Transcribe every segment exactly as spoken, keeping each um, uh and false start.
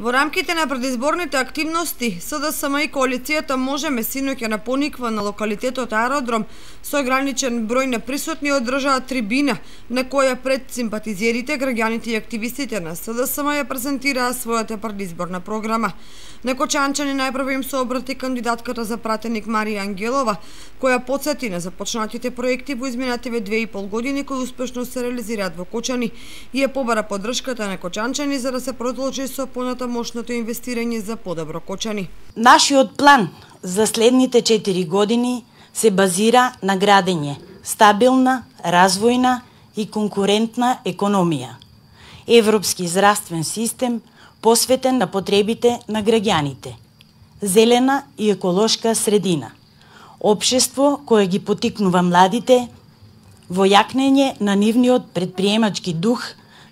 Во рамките на предизборните активности, СДСМ и коалицијата Можеме синоќа на Пониква на локалитетот Аеродром со ограничен број на присутни одржаа трибина на која пред симпатизерите, граѓаните и активистите на СДСМ ја презентираа својата предизборна програма. На Кочанчани најпрво им се обрати кандидатката за пратеник Марија Ангелова, која потсети на започнатите проекти во изминативе две и пол години кои успешно се реализираат во Кочани и ја побара поддршката на Кочанчани за да се продолжи со понатамошното инвестирање за подобро Кочани. Нашиот план за следните четири години се базира на градење стабилна, развојна и конкурентна економија, европски здравствен систем посветен на потребите на граѓаните, зелена и еколошка средина, општество кое ги потикнува младите во јакнење на нивниот предприемачки дух,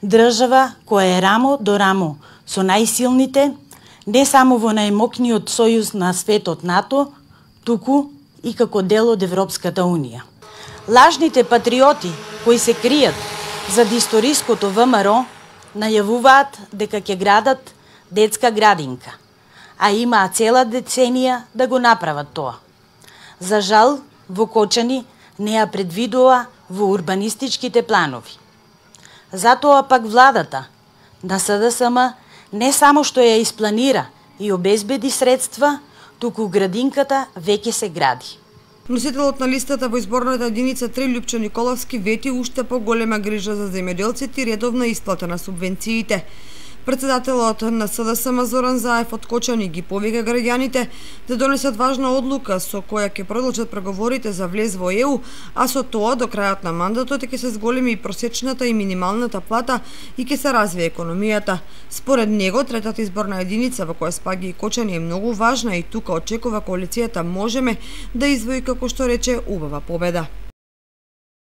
држава која е рамо до рамо со најсилните, не само во најмокниот сојуз на светот НАТО, туку и како дел од Европската Унија. Лажните патриоти кои се кријат зад историското ВМРО најавуваат дека ќе градат детска градинка, а имаа цела деценија да го направат тоа. За жал, во Кочани не ја предвидува во урбанистичките планови. Затоа пак владата на СДСМ не само што ја испланира и обезбеди средства, туку градинката веќе се гради. Носителот на листата во изборната единица три Љупчо Николовски вети уште поголема грижа за земјоделците и редовна исплата на субвенциите. Председателот на СДСМ Зоран Заев од Кочани ги повика граѓаните да донесат важна одлука со која ќе продолжат преговорите за влез во Е У, а со тоа до крајот на мандатот ќе се зголеми и просечната и минималната плата и ќе се развие економијата. Според него, третата изборна единица во која спаѓа и Кочани е многу важна и тука очекува коалицијата Можеме да извои, како што рече, убава победа.